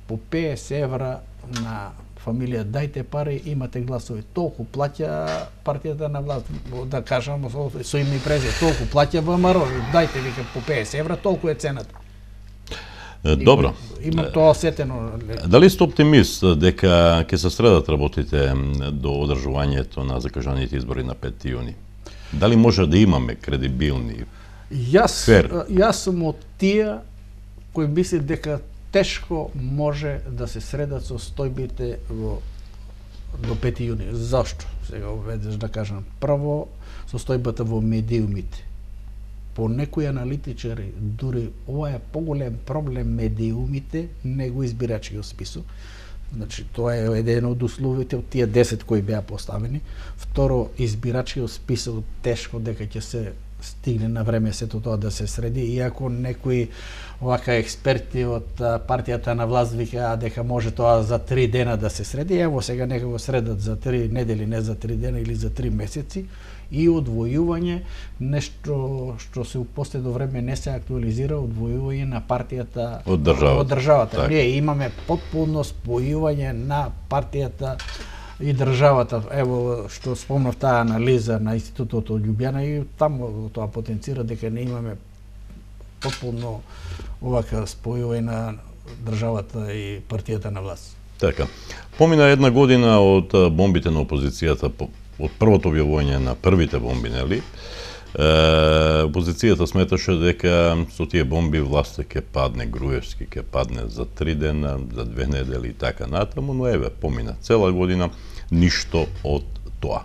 по 50 евра на фамилија, дајте пари, имате гласови. Толку плаќа партијата на власт, да кажам со име и презиме, толку плаќа ВМРО, дајте вика по 50 евра, толку е цената. Добро. Имам тоа сетено. Дали сте оптимист дека ќе се средат работите до одржувањето на закажаните избори на 5 јуни? Дали може да имаме кредибилни, фер? Јас сум од тие кои мисли дека тешко може да се средат состојбите до 5 јуни. Зашто? Сега веднаш да кажам. Прво, состојбата во медиумите. По некои аналитичари, дури ова е поголем проблем медиумите, него избирачкиот список. Значи, тоа е еден од условите од тие 10 кои беа поставени. Второ, избирачкиот список тешко дека ќе се стигне на време сето тоа да се среди, иако некои овака експерти од партијата на власт викаа дека може тоа за 3 дена да се среди. Ево сега нека го средат за 3 недели, не за 3 дена или за 3 месеци, и одвојување, нешто што се у последно време не се актуализира, одвојување на партијата од државата. Ние имаме потполно спојување на партијата и државата. Ево што спомнав таа анализа на Институтот од Љубљана и таму тоа потенцира дека не имаме потполно овака спојување на државата и партијата на власт. Така. Помина една година од бомбите на опозицијата, од првото објавување на првите бомби, нели? Опозицијата сметаше дека со тие бомби власта ќе падне, Груевски ќе падне за 3 дена, за 2 недели и така натаму, но еве, помина цела година, ништо од тоа.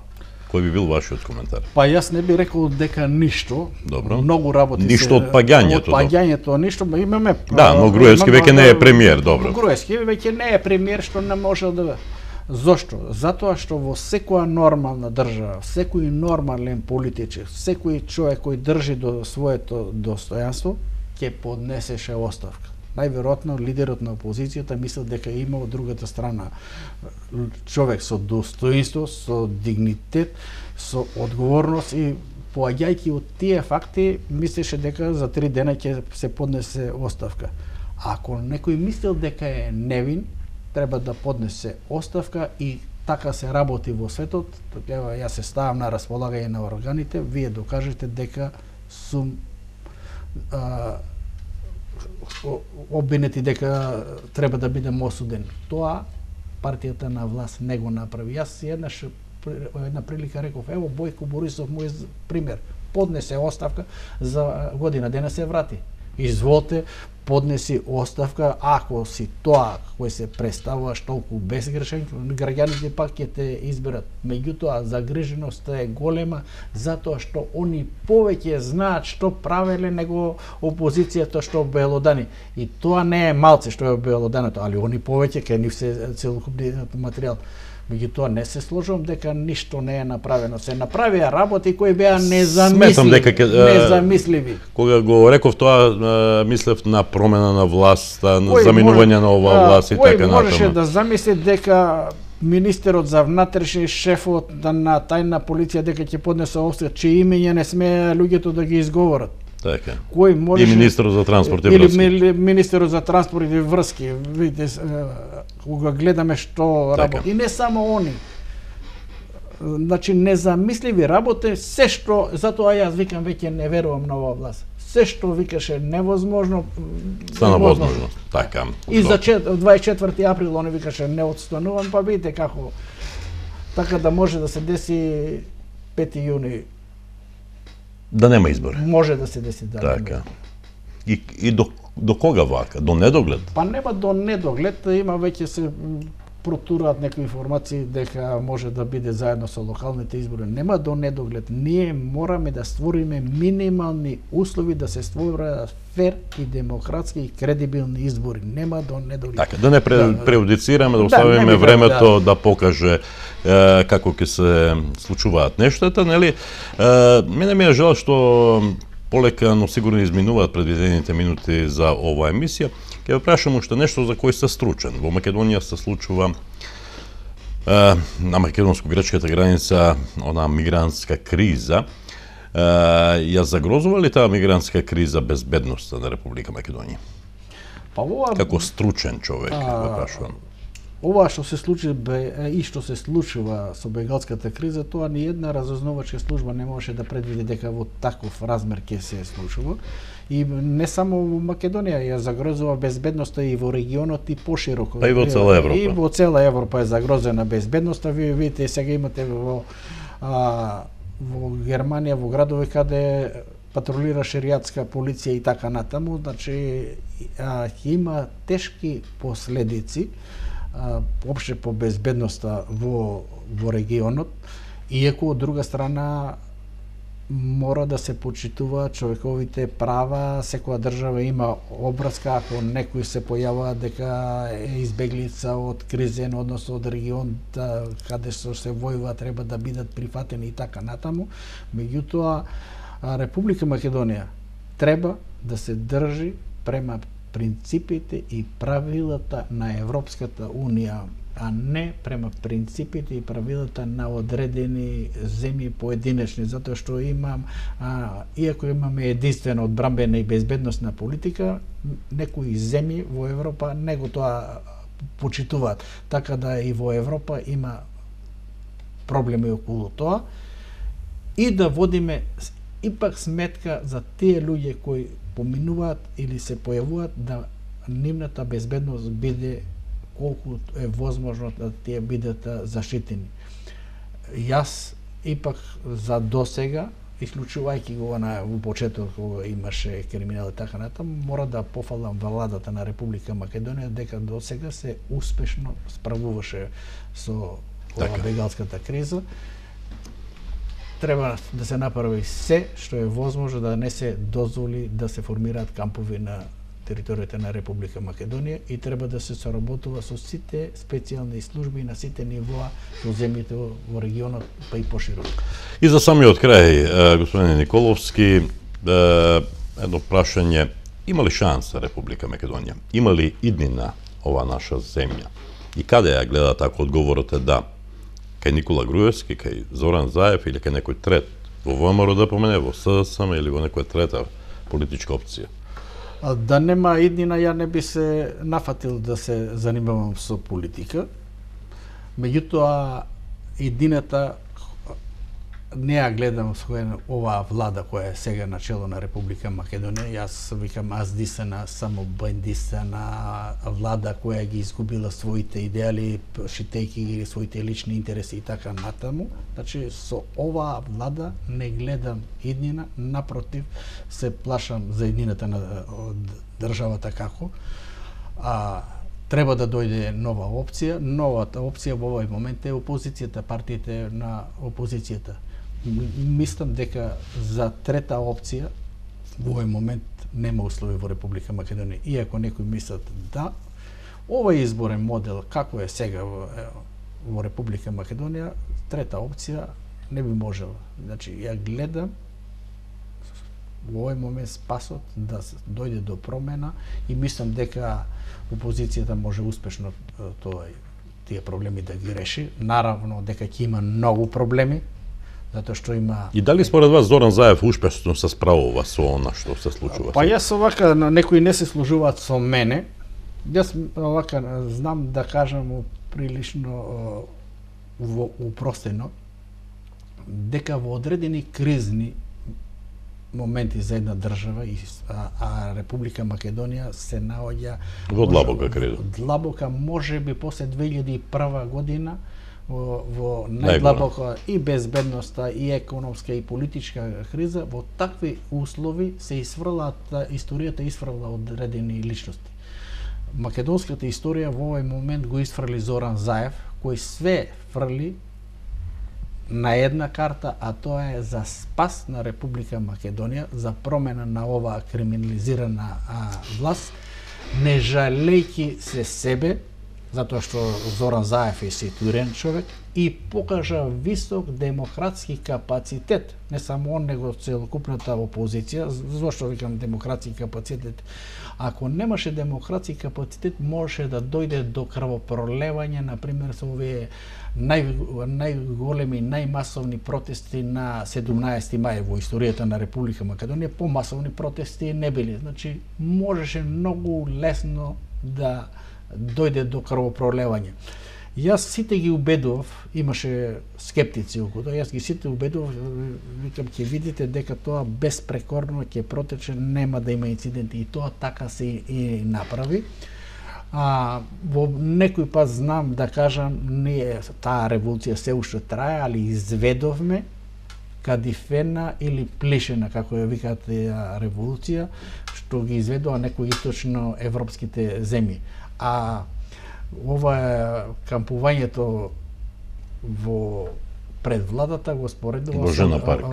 Кој би бил вашиот коментар? Па јас не би рекол дека ништо. Добро. Многу работи ништо од паѓањето. Од паѓањето ништо, имаме. Да, но Груевски веќе не е премиер, добро. Груевски веќе не е премиер, што не може да. Зошто? Затоа што во секоја нормална држава, секој нормален политичар, секој човек кој држи до своето достојанство, ќе поднесеше оставка. Најверојатно лидерот на опозицијата мислел дека има од другата страна човек со достоинство, со дигнитет, со одговорност и поаѓајќи од тие факти мислеше дека за 3 дена ќе се поднесе оставка. Ако некој мислел дека е невин, треба да поднесе оставка и така се работи во светот. Ева, јас се ставам на располагање на органите, вие докажете дека сум обвинети дека треба да бидем осуден. Тоа партијата на власт не го направи. Јас една прилика реков, ево Бојко Борисов му е пример. Поднесе оставка, за година дена се врати. Изволте, поднеси оставка, ако си тоа кој се представуваш толку безгрешен, граѓаните пак ќе те изберат. Меѓутоа, загриженоста е голема, затоа што они повеќе знаат што правеле него опозицијата што обелодани. И тоа не е малце што е обелоданото, али они повеќе, кај нив се целокупниот материјал. Меѓутоа не се сложувам дека ништо не е направено. Се направија работи кои беа Сметам дека незамисливи. Кога го реков тоа, мислев на промена на власт, на заминување на оваа власт и така натаму. Кој можеше да замисли дека министерот за внатрешни, шефот на тајна полиција дека ќе поднесе оставка, чии имења не смеа луѓето да ги изговорат. Така. Кој можеше... И министерот за транспорт и врски. Или министерот за транспорт и врски. Видите, кога гледаме што работи. И не само они. Значи, незамисливи работи, се што... Затоа јас викам, веќе не верувам на оваа власт. Се што викаше невозможно... Стана возможно. Така. И за 24 април они викаше не отстанувам, па видите како... Така да може да се деси 5 јуни. Да нема избори. Може да се деси, да. Така. И до кога вака? До недоглед? Па нема до недоглед, има веќе се протураат некои информации дека може да биде заедно со локалните избори. Нема до недоглед. Ние мораме да створиме минимални услови да се створат фер и демократски и кредибилни избори. Нема до недоглед. Така, да не преудицираме, да оставиме времето да покаже како ќе се случуваат нештата, нели? Мене ми е жал што полека, но сигурно изминуваат предвидените минути за оваа емисија. Ќе ве прашам уште нешто за кој сте стручен. Во Македонија се случува на македонско-грчката граница она мигрантска криза. Ја загрозува ли таа мигрантска криза безбедноста на Република Македонија? Па ова... Како стручен човек, ве прашувам. Ова што се случи и што се случува со бегалската криза, тоа ни една разузнавачка служба не можеше да предвиди дека во таков размер ќе се случува. И не само во Македонија ја загрозува безбедноста и во регионот и пошироко. Па и во цела Европа. И во цела Европа е загрозена безбедноста. Вие видите сега имате во Германија, во градови каде патрулира шеријатска полиција и така натаму, значи има тешки последици опште по безбедноста во регионот, иако од друга страна мора да се почитува човековите права, секоја држава има обврска ако некој се појавува дека е избеглица од кризен, односно од регион каде што се војува, треба да бидат прифатени и така натаму. Меѓутоа, Република Македонија треба да се држи према принципите и правилата на Европската Унија, а не према принципите и правилата на одредени земји поединечни, затоа што иако имаме единствена одбранбена и безбедносна политика, некои земји во Европа не го тоа почитуваат. Така да и во Европа има проблеми околу тоа и да водиме ипак сметка за тие луѓе кои поминуваат или се појавуваат, да нивната безбедност биде колку е возможно да тие бидат заштитени. Јас ипак за досега, исклучувајќи го во почеток кога имаше криминал и така натаму, мора да пофалам владата на Република Македонија дека досега се успешно справуваше со бегалската криза. Треба да се направи се што е возможно да не се дозволи да се формираат кампови на територијата на Република Македонија и треба да се соработува со сите специјални служби на сите нивоа со земјите во регионот, па и пошироко. И за самиот крај, господин Николовски, едно прашање, има ли шанса Република Македонија? Има ли иднина ова наша земја? И каде ја гледате ако одговорот е да? Кај Никола Груевски, кај Зоран Заев или кај некој трет во ВМРО да помене, во СДСМ или во некоја трета политичка опција? Да нема иднина, ја не би се нафатил да се занимавам со политика. Меѓутоа, иднината не ја гледам со оваа влада која е сега на чело на Република Македонија. Јас викам аздисана, само бандисана влада која ги изгубила своите идеали, шитејќи ги своите лични интереси и така натаму. Значи, со оваа влада не гледам иднина, напротив, се плашам за иднината на државата како. Треба да дојде нова опција. Новата опција во овој момент е опозицијата, партиите на опозицијата. Мислам дека за трета опција во овој момент нема услови во Република Македонија. Иако некои мислат да, овој изборен модел како е сега во Република Македонија, трета опција не би можела. Значи, ја гледам во овој момент спасот да дојде до промена и мислам дека опозицијата може успешно тие проблеми да ги реши. Наравно дека ќе има многу проблеми, затоа што има... И дали според вас Зоран Заев успешно се справува со она што се случува? Па јас овака, некои не се служуваат со мене, јас овака знам да кажам прилично упростено, дека во одредени кризни моменти за една држава, а Република Македонија се наоѓа во длабока криза. Длабока, можеби после 2001 година, во најдлабока и безбедноста, и економска, и политичка криза, во такви услови се историјата исфрла одредени личности. Македонската историја во овој момент го исфрли Зоран Заев, кој све фрли на една карта, а тоа е за спас на Република Македонија, за промена на оваа криминализирана власт, не жалејќи се себе, затоа што Зоран Заев е ситуиран човек и покажа висок демократски капацитет, не само он, него целокупната опозиција. Зошто викам демократски капацитет? Ако немаше демократски капацитет, можеше да дојде до крвопролевање, например, со овие најголеми, најмасовни протести на 17 мај во историјата на Република Македонија. Помасовни протести не били. Значи, можеше многу лесно да дојде до крвопролевање. Јас сите ги убедував, имаше скептици околу тоа, јас ги сите убедував, викам, ќе видите дека тоа безпрекорно ќе протече, нема да има инциденти, и тоа така се и направи. Во некој пат знам да кажам, ние таа револуција се уште трае, али изведовме кадифена или плешена, како ја викаат револуција, што ги изведува некои источно европските земји. А ова кампувањето во пред владата го споредува Божена парк.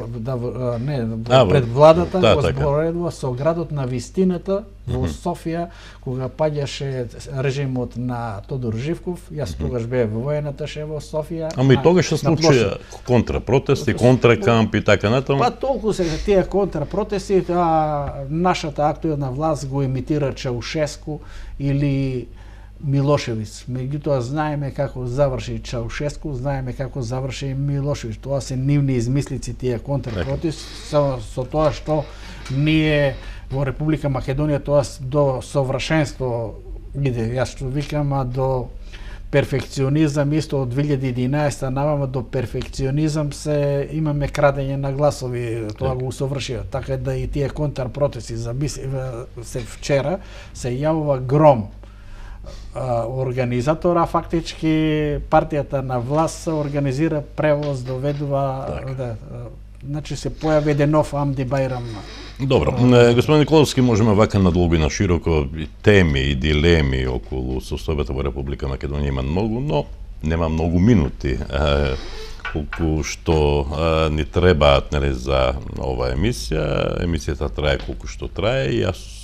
Пред владата го споредува со градот на вистината во Софија, кога паѓаше режимот на Тодор Живков. Јас тогаш бев во воената ше во Софија. Ама и тогаш се случи контрапротести, контракамп и така натаму. Па толку се тие контрапротести, нашата актуелна власт го имитира Чаушеску или Милошевиќ. Меѓутоа знаеме како заврши Чаушеску, знаеме како заврши Милошевиќ. Тоа се нивни измислици, тие контрапротести, со тоа што ние во Република Македонија тоа до совршенство иде. Јас што викам, до перфекционизам исто од 2011 навама до перфекционизам се имаме крадење на гласови, тоа го усовршија. Така да и тие контрпротести се вчера се јавува гром. Организатора, фактички партијата на власт организира превоз, доведува, значи се појави еден нов Амди Байрам. Добро, господин Николовски, можеме вака надолго и на широко, теми и дилеми околу состојбата во Република Македонија има многу, но нема многу минути колку што ни требаат за оваа емисија. Емисијата трае колку што трае и јас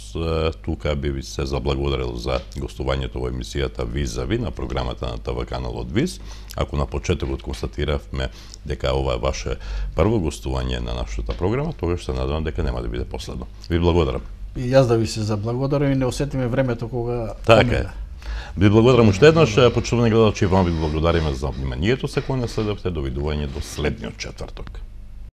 тука би ви се заблагодарил за гостувањето во емисијата Визави на програмата на ТВ каналот ВИС. Ако на почетокот констатиравме дека ова е ваше прво гостување на нашата програма, тогаш се надевам дека нема да биде последно. Ви благодарам. И јас да ви се заблагодарам и не осетиме времето кога така е. Ви благодарам уште еднаш, почитувани гледачи, вам ви благодариме за вниманието се кое не следевте. Довидување до следниот четврток.